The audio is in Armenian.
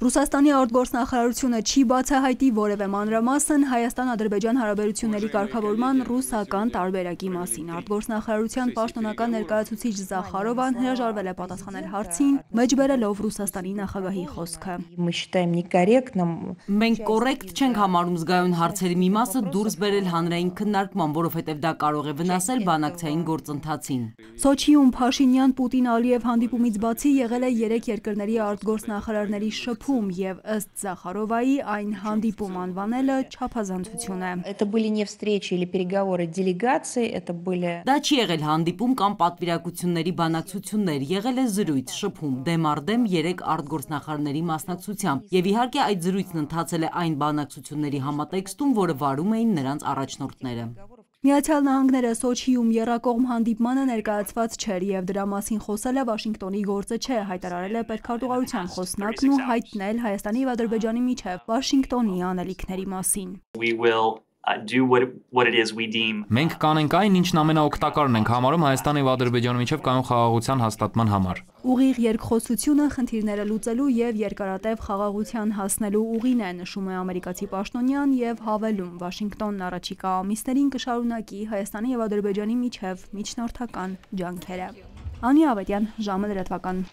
Ռուսաստանի արտգործնախարարությունը չի բացահայտի որևէ մանրամասն Հայաստան-Ադրբեջան հարաբերությունների կարգավորման ռուսական տարբերակի մասին։ Արտգործնախարարության պաշտոնական ներկայացուցիչ Զախարովան հրաժարվել է պատասխանել հարցին, մեջբերելով Ռուսաստանի նախագահի խոսքը։ Մենք կոռեկտ չենք համարում զգայուն հարցերի մի մասը դուրս բերել հանրային քննարկման, որովհետև դա կարող է վնասել բանակցային գործընթացին։ Սոչիում Փաշինյան-Պուտին-Ալիև հանդիպումից բացի եղել է երեք երկրների արտգործնախարարների շփում և ըստ Զախարովայի այն հանդիպում անվանելը չափազանցություն է։ Դա չի եղել հանդիպում կամ պատվիրակությունների բանակցություններ, եղել է զրույց, շփում, դեմ առ դեմ երեք արտգործնախարարների մասնակցությամբ և իհարկե այդ զրույցն ընթացել է այն բանակցությունների համատեքստում, որը վարում էին նրանց առաջնորդները։ Միացյալ Նահանգները Սոչիում եռակողմ հանդիպմանը ներկայացված չէր և դրա մասին խոսելը Վաշինգտոնի գործը չէ, հայտարարել է պետքարտուղարության խոսնակն ու հայտնել Հայաստանի և Ադրբեջանի միջև Վաշինգտոնի անելիքների մասին։ Մենք կանենք այն, ինչն ամենաօգտակարն ենք համարում Հայաստանի և Ադրբեջանի միջև կայուն խաղաղության հաստատման համար։ Ուղիղ երկխոսությունը խնդիրները լուծելու և երկարատև խաղաղության հասնելու ուղին է, նշում է ամերիկացի պաշտոնյան և հավելում, Վաշինգտոնն առաջիկա ամիսներին կշարունակի Հայաստանի և Ադրբեջանի միջև միջնորդական ջանքերը։ Անի Ավետյան, ժամը լրատվական։